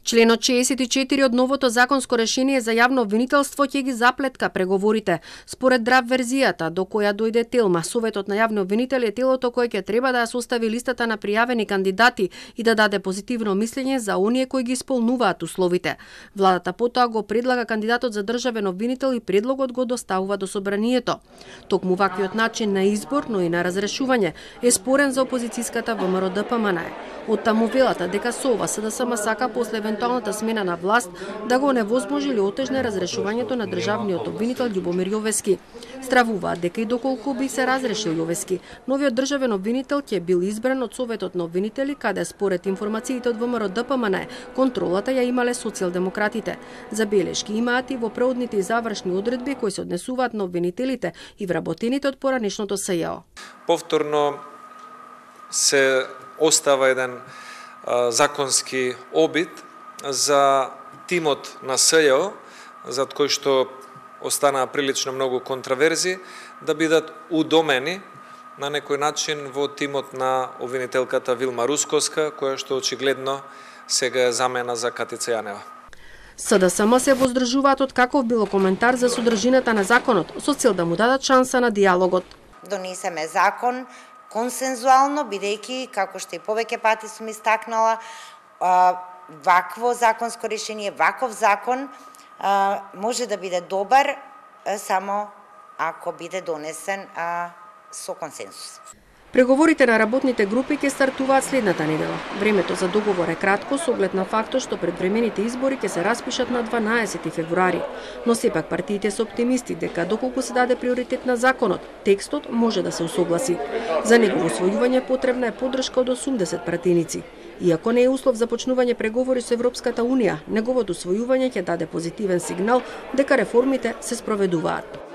Членот 64 од новото законско решение за јавно обвинителство ќе ги заплетка преговорите. Според драв верзијата до која дојде Телма, Советот на јавни обвинители е телото кое ќе треба да ја состави листата на пријавени кандидати и да даде позитивно мислење за оние кои ги исполнуваат условите. Владата потоа го предлага кандидатот за државен обвинител и предлогот го доставува до собранието. Токму ваквиот начин на избор, но и на разрешување е спорен за опозицијската ВМРО-ДПМН. Од таму велата дека со ова СДСМ сака после евентуалната смена на власт да го невозможи или отежне разрешувањето на државниот обвинител Љубомир Јовески. Стравуваат дека и доколку би се разрешил Јовески, новиот државен обвинител ќе бил избран од Советот на обвинители, каде според информациите од ВМРО-ДПМН контролата ја имале социјалдемократите. Забелешки имаат и во преодните и завршни одредби кои се однесуваат на обвинителите и вработените од поранешното СЈО. Повторно се остава еден законски обид за тимот на СЈО, за кој што останаа прилично многу контраверзи, да бидат удомени на некој начин во тимот на обвинителката Вилма Русковска, која што очигледно сега е замена за Катица Јанева. СДСМ се воздржуваат од каков било коментар за содржината на законот, со цел да му дадат шанса на диалогот. Донесеме закон консензуално, бидејќи, како што и повеќе пати сум истакнала, вакво законско решение, ваков закон може да биде добар само ако биде донесен со консенсус. Преговорите на работните групи ќе стартуваат следната недела. Времето за договор е кратко со оглед на фактот што предвремените избори ќе се распишат на 12 февруари. Но сепак партиите се оптимисти дека доколку се даде приоритет на законот, текстот може да се усогласи. За негово усвојување потребна е поддршка од 80 пратеници. Иако не е услов за почнување преговори со Европската Унија, неговото усвојување ќе даде позитивен сигнал дека реформите се спроведуваат.